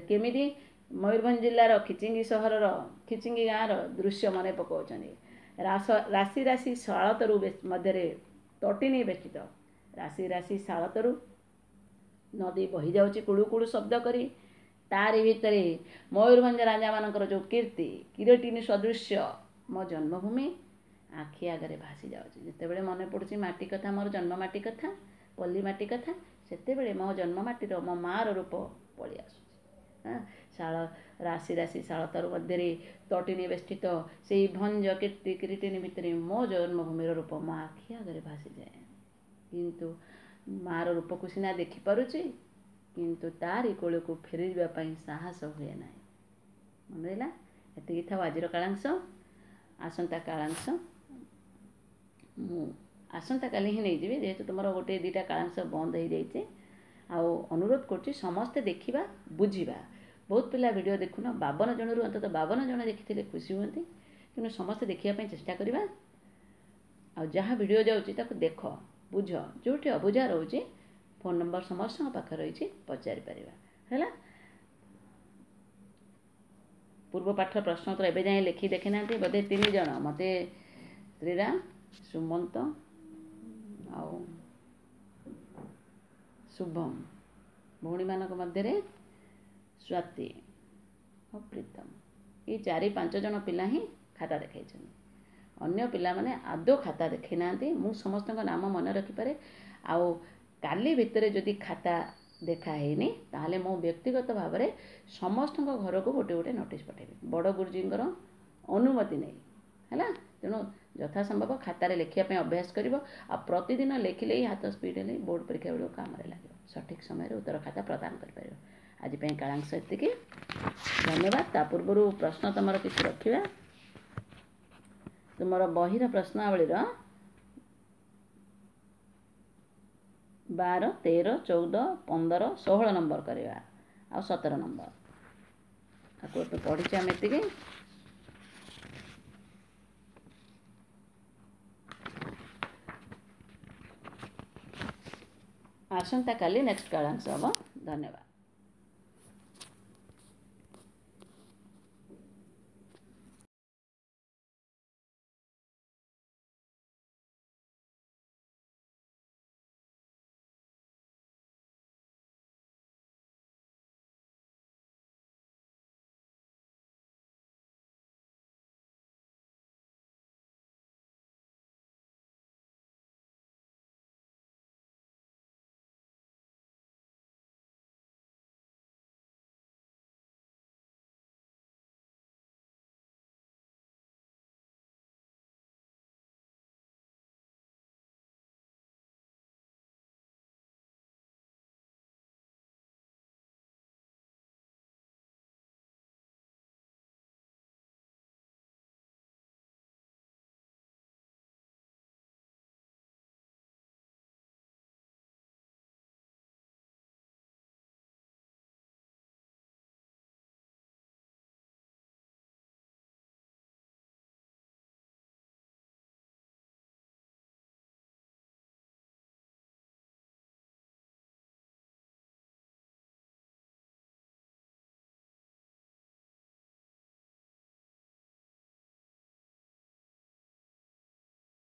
କେମିତି? ମୟୂରଭଞ୍ଜ ଜିଲ୍ଲାର ଖିଚିଙ୍ଗି ସହରର ଖିଚିଙ୍ଗି ଗାଁର ଦୃଶ୍ୟ ମନେ ପକାଉଛନ୍ତି। ରାସ ରାଶି ରାଶି ଶାଳତରୁ ମଧ୍ୟରେ ତଟିନୀ ବେଷ୍ଟିତ, ରାଶି ରାଶି ଶାଳତରୁ ନଦୀ ବହିଯାଉଛି କୁଳୁ କୁଳୁ ଶବ୍ଦ କରି। ତାରି ଭିତରେ ମୟୂରଭଞ୍ଜ ରାଜାମାନଙ୍କର ଯେଉଁ କୀର୍ତ୍ତି କିରଟିନୀ ସଦୃଶ୍ୟ ମୋ ଜନ୍ମଭୂମି ଆଖି ଆଗରେ ଭାସି ଯାଉଛି। ଯେତେବେଳେ ମନେ ପଡ଼ୁଛି ମାଟି କଥା, ମୋର ଜନ୍ମ ମାଟି କଥା, ପଲ୍ଲୀ ମାଟି କଥା, ସେତେବେଳେ ମୋ ଜନ୍ମ ମାଟିର ମୋ ମାଆର ରୂପ ପଳେଇ ଆସୁଛି। ଶାଳ ରାଶି ରାଶି ଶାଳତରୁ ମଧ୍ୟରେ ତଟିନୀ ବେଷ୍ଟିତ ସେଇ ଭଞ୍ଜ କୀର୍ତ୍ତି କିରୀଟିନୀ ଭିତରେ ମୋ ଜନ୍ମଭୂମିର ରୂପ ମୋ ଆଖି ଆଗରେ ଭାସିଯାଏ। କିନ୍ତୁ ମାଆର ରୂପକୁ ସିନା ଦେଖିପାରୁଛି, କିନ୍ତୁ ତାରି କୋଳକୁ ଫେରିଯିବା ପାଇଁ ସାହସ ହୁଏ ନାହିଁ। ମନେ ରହିଲା? ଏତିକି ଥାଉ ଆଜିର କାଳାଂଶ। ଆସନ୍ତା କାଳାଂଶ ମୁଁ ଆସନ୍ତାକାଲି ହିଁ ନେଇଯିବି, ଯେହେତୁ ତୁମର ଗୋଟିଏ ଦୁଇଟା କାଳାଂଶ ବନ୍ଦ ହେଇଯାଇଛି। ଆଉ ଅନୁରୋଧ କରୁଛି ସମସ୍ତେ ଦେଖିବା, ବୁଝିବା। ବହୁତ ପିଲା ଭିଡ଼ିଓ ଦେଖୁନ, ବାବନ ଜଣରୁ ଅନ୍ତତଃ ବାବନ ଜଣ ଦେଖିଥିଲେ ଖୁସି ହୁଅନ୍ତି। ତେଣୁ ସମସ୍ତେ ଦେଖିବା ପାଇଁ ଚେଷ୍ଟା କରିବା। ଆଉ ଯାହା ଭିଡ଼ିଓ ଯାଉଛି ତାକୁ ଦେଖ, ବୁଝ, ଯେଉଁଠି ଅବୁଝା ରହୁଛି ଫୋନ୍ ନମ୍ବର ସମସ୍ତଙ୍କ ପାଖରେ ରହିଛି, ପଚାରିପାରିବା। ହେଲା, ପୂର୍ବ ପାଠ ପ୍ରଶ୍ନ ଉତ୍ତର ଏବେ ଯାଏଁ ଲେଖି ଦେଖିନାହାନ୍ତି ବୋଧେ ତିନି ଜଣ, ମୋତେ ଶ୍ରୀରାମ, ସୁମନ୍ତ ଆଉ ଶୁଭମ, ଭଉଣୀମାନଙ୍କ ମଧ୍ୟରେ ସ୍ୱାତି ଆଉ ପ୍ରୀତମ, ଏଇ ଚାରି ପାଞ୍ଚ ଜଣ ପିଲା ହିଁ ଖାତା ଦେଖାଇଛନ୍ତି। ଅନ୍ୟ ପିଲାମାନେ ଆଦୌ ଖାତା ଦେଖେଇ ନାହାନ୍ତି। ମୁଁ ସମସ୍ତଙ୍କ ନାମ ମନେ ରଖିପାରେ। ଆଉ କାଲି ଭିତରେ ଯଦି ଖାତା ଦେଖା ହେଇନି, ତାହେଲେ ମୁଁ ବ୍ୟକ୍ତିଗତ ଭାବରେ ସମସ୍ତଙ୍କ ଘରକୁ ଗୋଟେ ଗୋଟେ ନୋଟିସ୍ ପଠାଇବି ବଡ଼ ଗୁରୁଜୀଙ୍କର ଅନୁମତି ନେଇ। ହେଲା, ତେଣୁ ଯଥାସମ୍ଭବ ଖାତାରେ ଲେଖିବା ପାଇଁ ଅଭ୍ୟାସ କରିବ। ଆଉ ପ୍ରତିଦିନ ଲେଖିଲେ ହିଁ ହାତ ସ୍ପିଡ଼ ହେଲେ ବୋର୍ଡ଼ ପରୀକ୍ଷା ବେଳକୁ କାମରେ ଲାଗିବ, ସଠିକ୍ ସମୟରେ ଉତ୍ତର ଖାତା ପ୍ରଦାନ କରିପାରିବ। ଆଜି ପାଇଁ କାଳାଂଶ ଏତିକି, ଧନ୍ୟବାଦ। ତା ପୂର୍ବରୁ ପ୍ରଶ୍ନ ତୁମର କିଛି ରଖିବା। ତୁମର ବହିର ପ୍ରଶ୍ନାବଳୀର ବାର, ତେର, ଚଉଦ, ପନ୍ଦର, ଷୋହଳ ନମ୍ବର କରିବା ଆଉ ସତର ନମ୍ବର। ଆକୁ ଏବେ ପଢ଼ିଛେ ଆମେ ଏତିକି। ଆସନ୍ତାକାଲି ନେକ୍ସଟ କାଳାଂଶ ହେବ। ଧନ୍ୟବାଦ।